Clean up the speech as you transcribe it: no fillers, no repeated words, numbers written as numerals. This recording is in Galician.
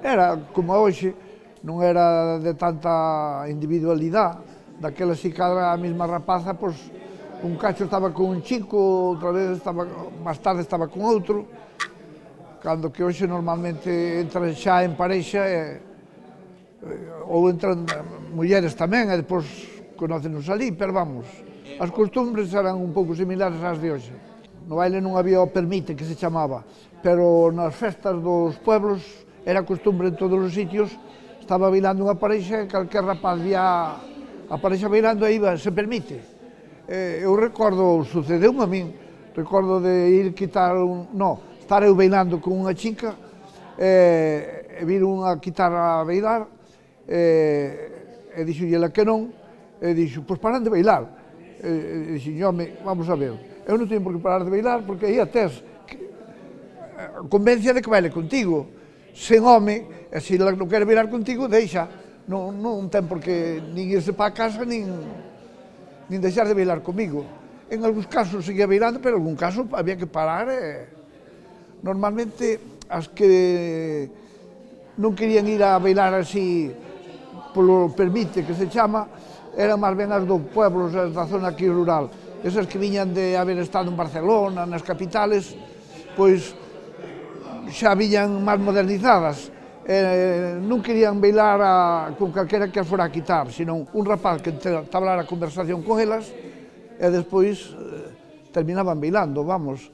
Era como hoxe, non era de tanta individualidade, daquela si cada a mesma rapaza, pois, un cacho estaba con un chico, outra vez estaba, máis tarde estaba con outro, cando que hoxe normalmente entran xa en parexa ou entran mulleres tamén e depois conócenos ali, pero vamos, as costumbres eran un pouco similares ás de hoxe. No baile non había o permite, que se chamaba, pero nas festas dos pueblos era costumbre en todos os sitios, estaba bailando unha parexa e calquer rapaz vía a parexa bailando e iba, se permite. Eu recordo, sucedeu-me a min, recordo de ir quitar estar eu bailando con unha chica e vir unha quitar a bailar e dixo-lle que non, e dixo, pois paran de bailar. E dixo, home, vamos a ver, eu non teño por que parar de bailar porque aí a tes convencia de que baile contigo. Sen home, e se non quere bailar contigo, deixa. Non ten por que nin irse para a casa, nin deixar de bailar comigo. En algúns casos seguía bailando, pero en algún caso había que parar. Normalmente, as que non querían ir a bailar así polo permite, que se chama, eran máis ben as dos pueblos, as da zona aquí rural. Esas que viñan de haber estado en Barcelona, nas capitales, pois xa viñan máis modernizadas. Non querían bailar con calquera que as fora a quitar, senón un rapaz que entablara a conversación con elas e despois terminaban bailando, vamos.